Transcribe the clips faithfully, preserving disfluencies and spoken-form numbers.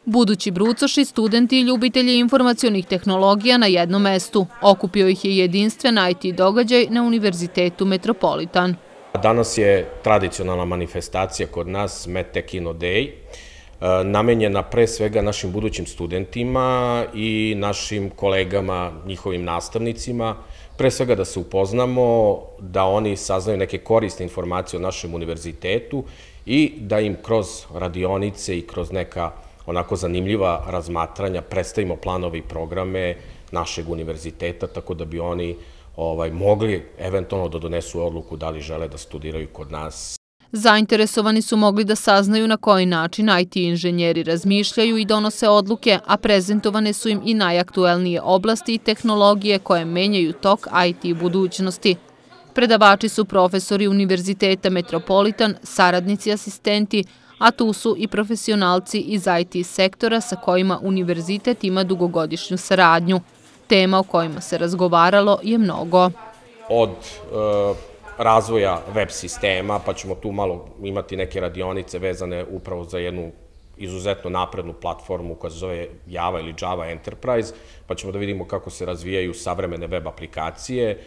Budući brucoši, studenti i ljubitelji informacionih tehnologija na jednom mestu. Okupio ih je jedinstven I T događaj na Univerzitetu Metropolitan. Danas je tradicionalna manifestacija kod nas MedTech Inno Day, namenjena pre svega našim budućim studentima i našim kolegama, njihovim nastavnicima, pre svega da se upoznamo, da oni saznaju neke korisne informacije o našem univerzitetu i da im kroz radionice i kroz neka onako zanimljiva razmatranja predstavimo planove i programe našeg univerziteta, tako da bi oni mogli eventualno da donesu odluku da li žele da studiraju kod nas. Zainteresovani su mogli da saznaju na koji način I T inženjeri razmišljaju i donose odluke, a prezentovane su im i najaktuelnije oblasti i tehnologije koje menjaju tok I T budućnosti. Predavači su profesori Univerziteta Metropolitan, saradnici, asistenti, a tu su i profesionalci iz I T sektora sa kojima univerzitet ima dugogodišnju saradnju. Tema o kojima se razgovaralo je mnogo. Od razvoja web sistema, pa ćemo tu malo imati neke radionice vezane upravo za jednu izuzetno naprednu platformu koja se zove Java ili Java Enterprise, pa ćemo da vidimo kako se razvijaju savremene web aplikacije.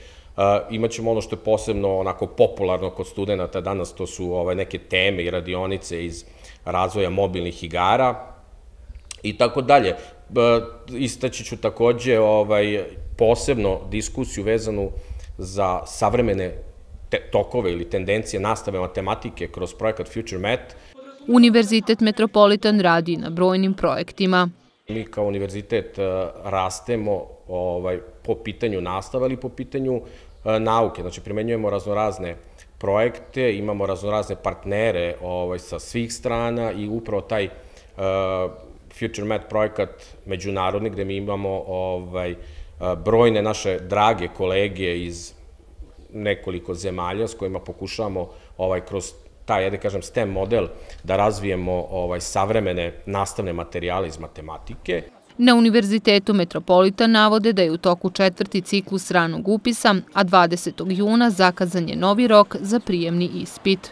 Imaćemo ono što je posebno onako popularno kod studenta danas, to su neke teme i radionice iz razvoja mobilnih igara i tako dalje. Istaći ću takođe posebno diskusiju vezanu za savremene tokove ili tendencije nastave matematike kroz projekat FutureMat. Univerzitet Metropolitan radi na brojnim projektima. Mi kao univerzitet rastemo po pitanju nastave, ali i po pitanju nauke. Znači, primenjujemo raznorazne projekte, imamo raznorazne partnere sa svih strana i upravo taj FutureMat projekat međunarodni, gde mi imamo brojne naše drage kolege iz nekoliko zemalja s kojima pokušavamo kroz taj, da kažem, STEM model da razvijemo savremene nastavne materijale iz matematike. Na Univerzitetu Metropolitan navode da je u toku četvrti ciklus ranog upisa, a dvadesetog juna zakazan je novi rok za prijemni ispit.